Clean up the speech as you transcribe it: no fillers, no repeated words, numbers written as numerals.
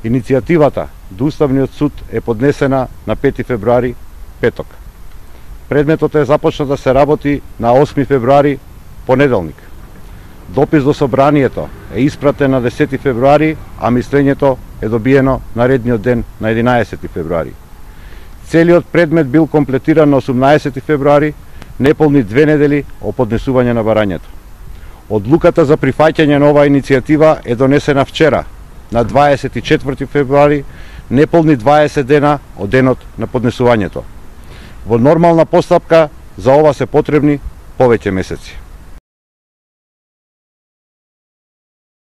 Иницијативата до Уставниот суд е поднесена на 5 февруари, петок. Предметот е започна да се работи на 8 февруари, понеделник. Допис до собранието е испратен на 10 февруари, а мислењето е добиено наредниот ден на 11 февруари. Целиот предмет бил комплетиран на 18 февруари, неполни 2 недели од поднесување на барањето. Одлуката за прифаќање на оваа иницијатива е донесена вчера, на 24 февруари, неполни 20 дена од денот на поднесувањето. Во нормална постапка за ова се потребни повеќе месеци.